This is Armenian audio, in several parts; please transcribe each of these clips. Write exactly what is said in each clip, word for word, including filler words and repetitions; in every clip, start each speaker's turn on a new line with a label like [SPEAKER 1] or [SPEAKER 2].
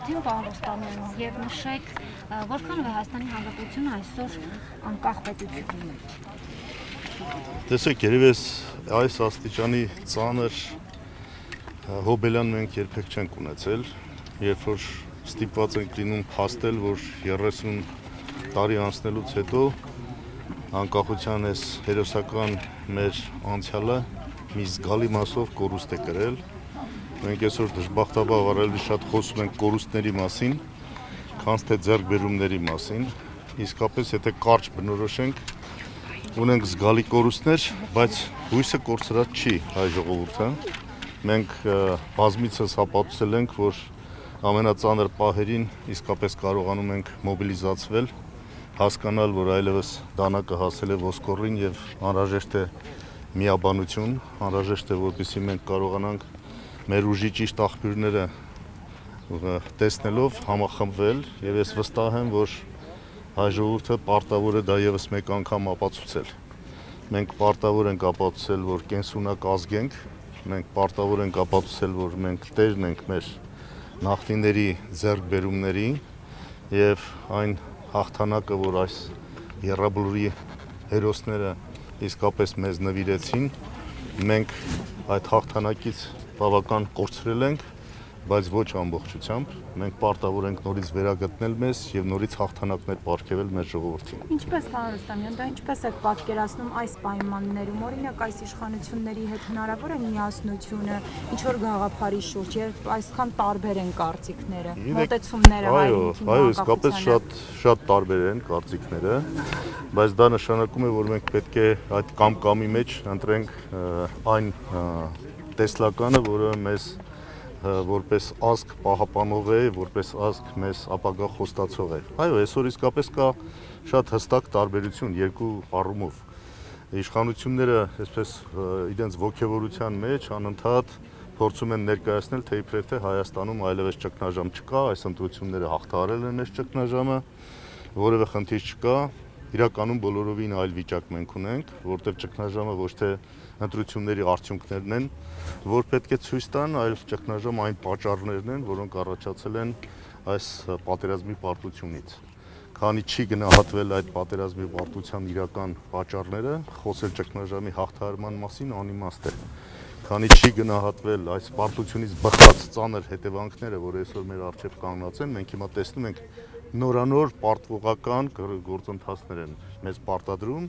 [SPEAKER 1] ժողովրդին պահոստանելու եւ նշեք որքանով է Հայաստանի Հանրապետությունը այսօր անկախ պետություն է։
[SPEAKER 2] Տեսեք, երևի այս աստիճանի ծանր հոբելյան մենք երբեք չենք ունեցել, երբ որ ստիպված ենք լինում փաստել, որ երեսուն տարի անցնելուց հետո անկախության այս հերոսական մեր անցյալը մի զգալի մասով կորուստ է կրել։ Մենք այսօր դժբախտաբար ավելի շատ խոսում ենք կորուստների մասին, քան թե ձեռքբերումների մասին։ Իսկապես, եթե կարճ բնորոշենք, ունենք զգալի կորուստներ, բայց հույսը կորցրած չի հայ ժողովուրդը։ Մենք բազմիցս հապատուցել ենք, որ ամենածանր պահերին իսկապես կարողանում ենք մոբիլիզացվել, հասկանալ, որ այլևս դանակը հասել է ոսկորին եւ անհրաժեշտ է միաբանություն, անհրաժեշտ է, որպեսզի մենք կարողանանք մեր ուժի ճիշտ աղբյուրները տեսնելով համախմբվել եւ ես վստահ եմ, որ հայ ժողովուրդը պարտավոր է դա եւս մեկ անգամ ապացուցել։ Մենք պարտավոր ենք ապացուցել, որ կենսունակ ազգ ենք, մենք պարտավոր ենք ապացուցել, որ մենք տերն ենք մեր նախնիների ձեռքբերումների եւ այն հաղթանակը, որ այս եռաբլուրի հերոսները իսկապես մեզ նվիրեցին, մենք այդ հաղթանակից բավական կորցրել ենք, բայց ոչ ամբողջությամբ, մենք պարտավոր ենք նորից վերագտնել մեզ եւ նորից հաղթանակներ պարգեւել մեր ժողովրդին։
[SPEAKER 3] Ինչպես պարոն Ռուստամյան, դա ինչպես է պատկերացնում այս պայմաններում, օրինակ այս իշխանությունների հետ հնարավոր է միասնությունը, ինչ որ գաղափարի շուրջ, երբ այսքան տարբեր են կարծիքները, մոտեցումները հայրենիքի
[SPEAKER 2] այո, իսկապես շատ շատ տարբեր են կարծիքները, բայց դա նշանակում է, որ մենք պետք է այդ կամ-կամի մեջ ընտրենք այն տեսլականը, որը մեզ որպես ազգ պահապանող է, որպես ազգ մեզ ապագա խոստացող է։ Այո, այսօր իսկապես կա շատ հստակ տարբերություն երկու առումով։ Իշխանությունները այսպես իրենց ողջավորության մեջ անընդհատ փորձում են ներկայացնել, թե իբրև թե Հայաստանում այլևս ճգնաժամ չկա, այս ընտրությունները հաղթահարել են այս ճգնաժամը, որևէ խնդիր չկա։ Իրականում բոլորովին այլ վիճակ մենք ունենք, որտեղ ճգնաժամը ոչ թե ընտրությունների արդյունքներն են, որ պետք է ցույց տան, այլ ճգնաժամ այն պատճառներն են, որոնք առաջացել են այս պատերազմի պարտությունից։ Քանի չի գնահատվել այդ պատերազմի պարտության իրական պատճառները, խոսել ճգնաժամի հաղթահարման մասին անիմաստ է։ Քանի չի գնահատվել այս պարտությունից բխած ծանր հետևանքները, որ այսօր մեր առջև կանգնած են, մենք հիմա տեսնում ենք նորանոր պարտվողական գործընթացներ են մեզ պարտադրում,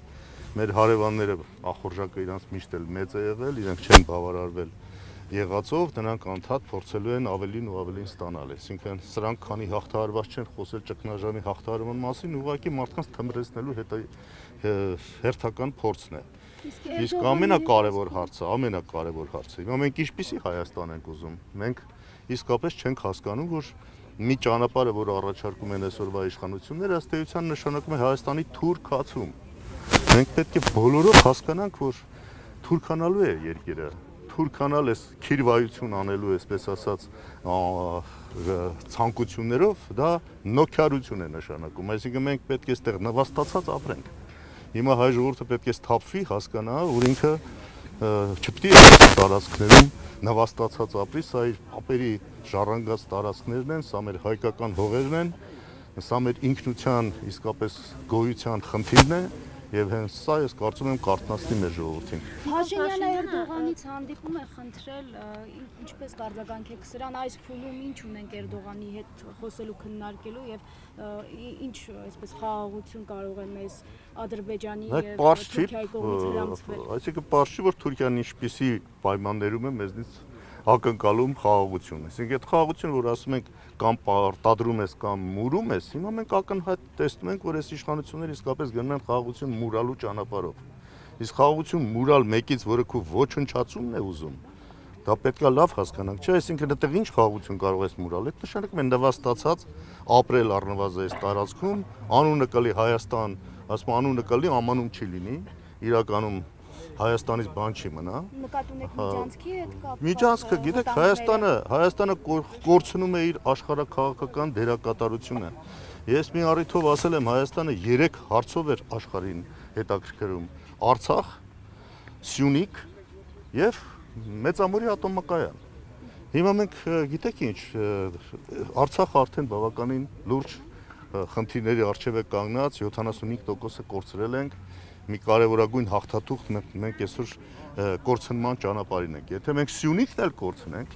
[SPEAKER 2] մեր հարևանները ախորժակը իրանց միշտ էլ մեծ է եղել, իրենք չեն բավարարվել եղածով, նրանք անդադ փորձելու են ավելին ու ավելին ստանալ։ Այսինքն սրանք քանի հաղթահարված չեն խոսել ճգնաժամի հաղթահարման մասին, ուղղակի մարդկանց թմրեցնելու հերթական փորձն է։ Իսկ ամենակարևոր հարցը, ամենակարևոր հարցը, հիմա մենք ինչպիսի Հայաստան ենք ուզում։ Մենք իսկապես չենք հասկանում, որ մի ճանապարհը, որ առաջարկում են այսօրվա իշխանությունները, ըստ էության նշանակում է Հայաստանի թուր քացում։ Մենք պետք է բոլորով հասկանանք, որ թուրքանալու է երկիրը, թուրքանալ էս քիրվայություն անելու, այսպես ասած, ցանկություններով, դա նոքյարություն է նշանակում։ Այսինքն մենք պետք է այստեղ նվաստացած ապրենք։ Հիմա հայ ժողովուրդը պետք է սթափվի, հասկանա, որ ինքը չպետք է տարածքներում նվաստացած ապրի, սա իր ապերի ժառանգած տարածքներն են, սա մեր հայկական հողերն են, սա մեր ինքնության իսկապես գոյության խնդիրն է եւ հենց սա ես կարծում եմ կարտնացնի մեր ժողովրդին։
[SPEAKER 1] Փաշինյանը Էրդողանից հանդիպում է խնդրել, ինչպես կարձագանք եք սրան, այս փուլում ինչ ունենք Էրդողանի հետ խոսելու քննարկելու եւ ինչ այսպես խաղաղություն կարող է մեզ Ադրբեջանի եւ Թուրքիայի կողմից հրամցվել։
[SPEAKER 2] Այսինքն պարզ չի, որ Թուրքիան ինչպիսի պայմաններում է մեզնից ակնկալում խաղաղություն։ Այսինքն այդ խաղաղությունը, որ ասում ենք կամ պարտադրում ես կամ մուրում ես, հիմա մենք ակնհայտ տեսնում ենք, որ այս իշխանությունները իսկապես գնում են խաղաղություն մուրալու ճանապարհով։ Իսկ խաղաղություն մուրալ մեկից, որը քո ոչնչացումն է ուզում, դա պետք է լավ հասկանանք, չէ՞, այսինքն այդտեղ ինչ խաղաղություն կարող ես մուրալ։ Այդ նշանակում է նվաստացած ապրել առնվազն այս տարածքում, անունը կլի Հայաստան, ասում անունը կլի, ամանում չի լինի, իրականում Հայաստանից բան չի մնա։
[SPEAKER 1] Նկատի ունեք Միջանցքի հետ կապ։
[SPEAKER 2] Միջանցքը, գիտեք, Հայաստանը, Հայաստանը կորցնում է իր աշխարհաքաղաքական դերակատարությունը։ Ես մի առիթով ասել եմ, Հայաստանը երեք հարցով էր աշխարհին հետաքրքրում՝ Արցախ, Սյունիք եւ Մեծամորի ատոմակայան։ Հիմա մենք գիտեք ինչ, Արցախը արդեն բավականին լուրջ խնդիրների առջև է կանգնած, յոթանասունհինգ տոկոսը կորցրել ենք, մի կարևորագույն հաղթաթուղթ մենք այսօր կորցնման ճանապարհին ենք։ Եթե մենք Սյունիքն էլ կորցնենք,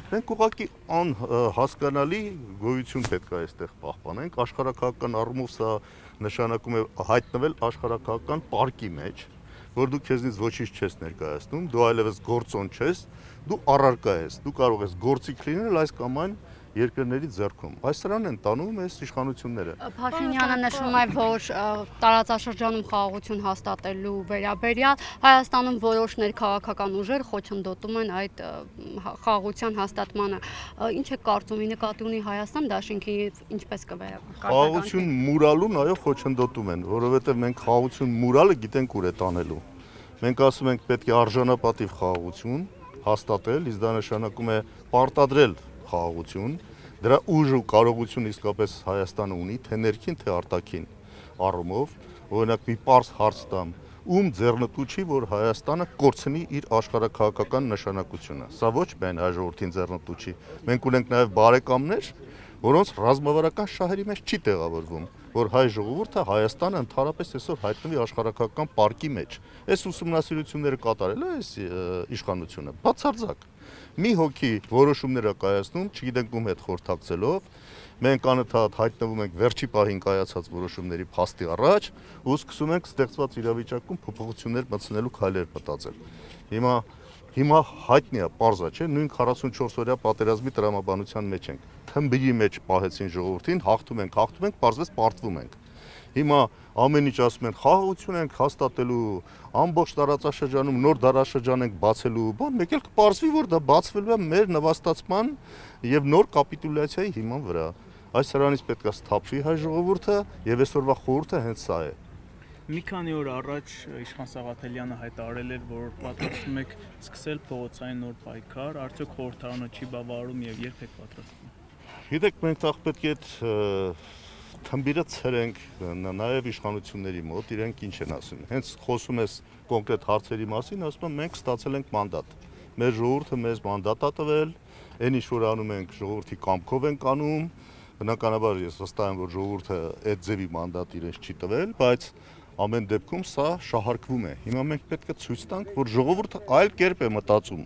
[SPEAKER 2] մենք ուղղակի անհասկանալի գոյություն պետք է այստեղ պահպանենք, աշխարհաքաղաքական առումով սա նշանակում է հայտնվել աշխարհաքաղաքական պարկի մեջ, որ դու քեզնից ոչինչ չես ներկայացնում, դու այլևս գործոն չես, դու առարկա ես, դու կարող ես գործիք լինել այս կամ այն երկրների ձեռքում։ Այս սրանն են տանում այս իշխանությունները։
[SPEAKER 4] Փաշինյանը նշում է, որ տարածաշրջանում խաղաղություն հաստատելու վերաբերյալ Հայաստանում որոշ ներքաղաքական ուժեր խոչընդոտում են այդ խաղաղության հաստատմանը։ Ինչ է կարծում, ի նկատի ունի Հայաստան դաշինքի ինչպես կվերաբերվի։
[SPEAKER 2] Խաղաղություն մուրալուն այո խոչընդոտում են, որովհետև մենք խաղաղություն մուրալը գիտենք ուր է տանելու։ Մենք ասում ենք պետք է արժանապատիվ խաղաղություն հաստատել, իսկ դա նշանակում է պարտադրել խաղաղություն, դրա ուժ ու կարողություն իսկապես Հայաստանը ունի, թե ներքին, թե արտաքին առումով, օրինակ մի պարզ հարց տամ, ում ձեռնտու չի, որ Հայաստանը կորցնի իր աշխարհաքաղաքական նշանակությունը։ Սա ոչ միայն հայ ժողովրդին ձեռնտու չի։ Մենք ունենք նաև բարեկամներ, որոնց ռազմավարական շահերի մեջ չի տեղավորվում, որ հայ ժողովուրդը Հայաստանը ընդհանրապես այսօր հայտնվի աշխարհաքաղաքական պարկի մեջ։ Այս ուսումնասիրությունները կատարել է այս իշխանությունը, բացարձակ։ Մի հոգի որոշումներ է կայացնում, չգիտենք ում հետ խորհրդակցելով, մենք անընդհատ հայտնվում ենք վերջի պահին կայացած որոշումների փաստի առաջ ու սկսում ենք ստեղծված իրավիճակում փոփոխություններ մտցնելու քայլեր մտածել։ Հիմա հիմա հայտնի է, պարզ է, չէ՞, նույն քառասունչորս օրյա պատերազմի տրամաբանության մեջ ենք։ Թմբիրի մեջ պահեցին ժողովրդին, հաղթում ենք, հաղթում ենք, պարզվեց պարտվում ենք։ Հիմա ամեն ինչ ասում են, խաղաղություն ենք հաստատելու, ամբողջ տարածաշրջանում նոր դարաշրջան ենք բացելու, բան, մեկ էլ կպարզվի, որ դա բացվելու է մեր նվաստացման եւ նոր կապիտուլյացիայի հիման վրա։ Այս սրանից պետք է սթափվի հայ ժողովուրդը եւ այսօրվա խորհուրդը հենց սա է։
[SPEAKER 5] Մի քանի օր առաջ Իշխան Սաղաթելյանը հայտարարել էր, որ պատրաստվում եք սկսել փողոցային նոր պայքար, արդյոք խորհրդարանը չի բավարարում եւ երբ եք պատրաստվում։
[SPEAKER 2] Գիտեք, մենք տաղ պետք է այդ թմբիրը ցրենք նաև իշխանությունների մոտ, իրենք ինչ են ասում։ Հենց խոսում ես կոնկրետ հարցերի մասին, ասում եմ մենք ստացել ենք մանդատ։ Մեր ժողովուրդը մեզ մանդատ է տվել, այն ինչ որ անում ենք ժողովրդի կամքով ենք անում, բնականաբար ես վստահ եմ, որ ժողովուրդը այդ ձևի մանդատ իրենց չի տվել, բայց ամեն դեպքում սա շահարկվում է։ Հիմա մենք պետք է ցույց տանք, որ ժողովուրդը այլ կերպ է մտածում։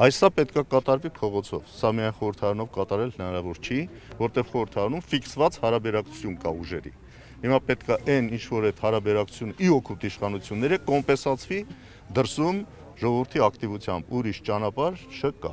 [SPEAKER 2] Այսա պետք է կատարվի փողոցով։ Սա միայն խորհրդարանով կատարել հնարավոր չի, որտեղ խորհրդարանում ֆիքսված հարաբերակցություն կա ուժերի։ Հիմա պետք է այն ինչ որ այդ հարաբերակցությունը ի օգուտ իշխանությունների կոմպենսացվի դրսում ժողովրդի ակտիվությամբ, ուրիշ ճանապարհ չկա։